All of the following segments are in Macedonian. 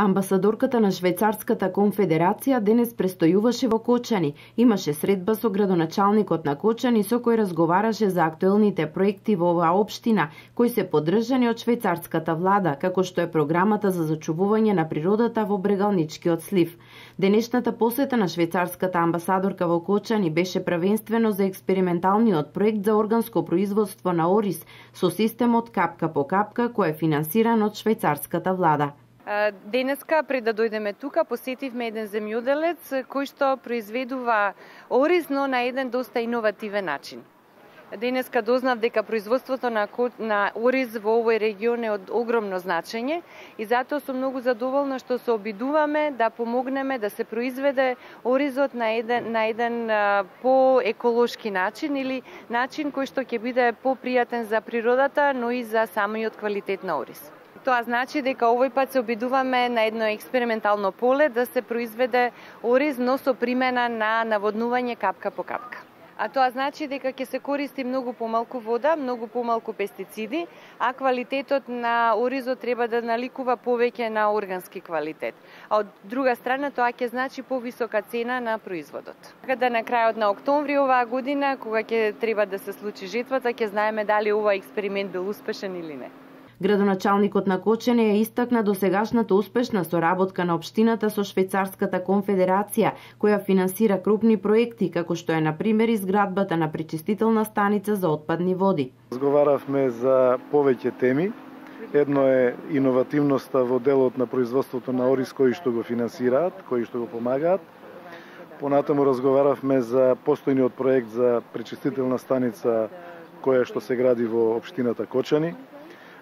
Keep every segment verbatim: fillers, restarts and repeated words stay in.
Амбасадорката на Швајцарската конфедерација денес престојуваше во Кочани. Имаше средба со градоначалникот на Кочани со кој разговараше за актуелните проекти во оваа општина, кои се поддржани од швајцарската влада, како што е програмата за зачувување на природата во Брегалничкиот слив. Денешната посета на швајцарската амбасадорка во Кочани беше првенствено за експерименталниот проект за органско производство на ориз со системот капка по капка кој е финансиран од швајцарската влада. Денеска, пред да дојдеме тука, посетивме еден земјоделец кој што произведува ориз, но на еден доста иновативен начин. Денеска дознав дека производството на, на ориз во овој регион е од огромно значење и затоа сум многу задоволна што се обидуваме да помогнеме да се произведе оризот на еден, на еден по-еколошки начин или начин кој што ќе биде попријатен за природата, но и за самиот квалитет на ориз. Тоа значи дека овој пат се обидуваме на едно експериментално поле да се произведе ориз, но со примена на наводнување капка по капка. А тоа значи дека ќе се користи многу помалку вода, многу помалку пестициди, а квалитетот на оризот треба да наликува повеќе на органски квалитет. А од друга страна тоа ќе значи повисока цена на производот. Каде на крајот на октомври оваа година, кога ќе треба да се случи жетвата, ќе знаеме дали овој експеримент бил успешен или не. Градоначалникот на Кочани ја истакна досегашната успешна соработка на општината со Швајцарската конфедерација, која финансира крупни проекти, како што е на пример изградбата на пречистителна станица за отпадни води. Разговаравме за повеќе теми. Едно е иновативноста во делот на производството на ориз кои што го финансираат, кои што го помагаат. Понатаму разговаравме за постојниот проект за пречистителна станица која што се гради во општината Кочани.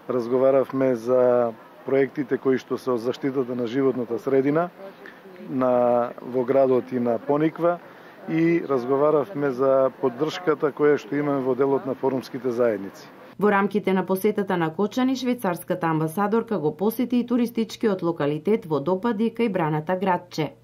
Разговаравме за проектите кои што се од заштитата на животната средина на, во градот и на Пониква и разговаравме за поддршката која што имаме во делот на форумските заедници. Во рамките на посетата на Кочани, швајцарската амбасадорка го посети и туристичкиот локалитет Водопади кај Браната градче.